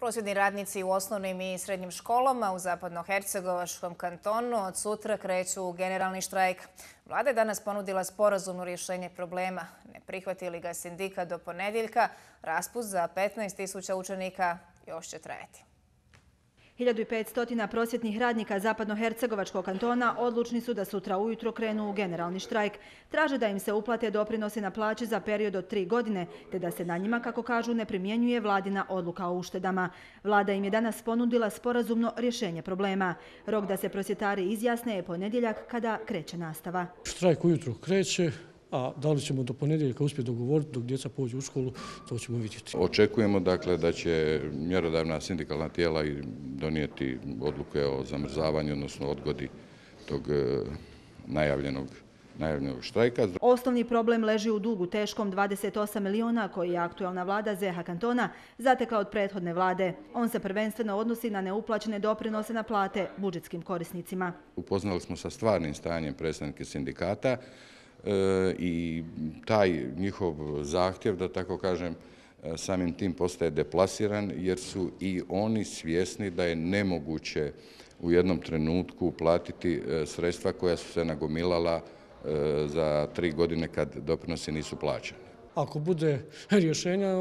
Prosvjedni radnici u osnovnim i srednjim školama u Zapadnohercegovačkom kantonu od sutra kreću u generalni štrajk. Vlada je danas ponudila sporazumno rješenje problema. Ne prihvati li ga sindikat do ponedjeljka, raspust za 15.000 učenika još će trajati. 1500 prosvjetnih radnika Zapadnohercegovačkog kantona odlučni su da sutra ujutro krenu u generalni štrajk. Traže da im se uplate doprinosi na plaće za period od 3 godine, te da se na njima, kako kažu, ne primjenjuje vladina odluka o uštedama. Vlada im je danas ponudila sporazumno rješenje problema. Rok da se prosvjetari izjasne je ponedjeljak kada kreće nastava. Štrajk ujutro kreće, a da li ćemo do ponedjeljka uspjeti dogovoriti dok djeca pođu u školu, to ćemo vidjeti. Očekujemo dakle da će mjerodavna sindikalna tijela donijeti odluke o zamrzavanju, odnosno odgodi tog najavljenog štrajka. Osnovni problem leži u dugu teškom 28 miliona koji je aktualna vlada ZH kantona zatekla od prethodne vlade. On se prvenstveno odnosi na neuplaćene doprinose na plate budžetskim korisnicima. Upoznali smo sa stvarnim stanjem predstavnike sindikata i taj njihov zahtjev, da tako kažem, samim tim postaje deplasiran jer su i oni svjesni da je nemoguće u jednom trenutku platiti sredstva koja su se nagomilala za 3 godine kad doprinosi nisu plaćani. Ako bude rješenja,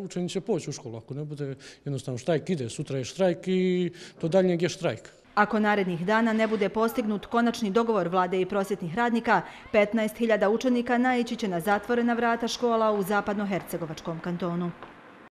učenici će poći u školu. Ako ne bude, jednostavno štrajk ide. Sutra je štrajk i do daljnjeg je štrajk. Ako narednih dana ne bude postignut konačni dogovor vlade i prosvjetnih radnika, 15.000 učenika naići će na zatvorena vrata škola u Zapadnohercegovačkom kantonu.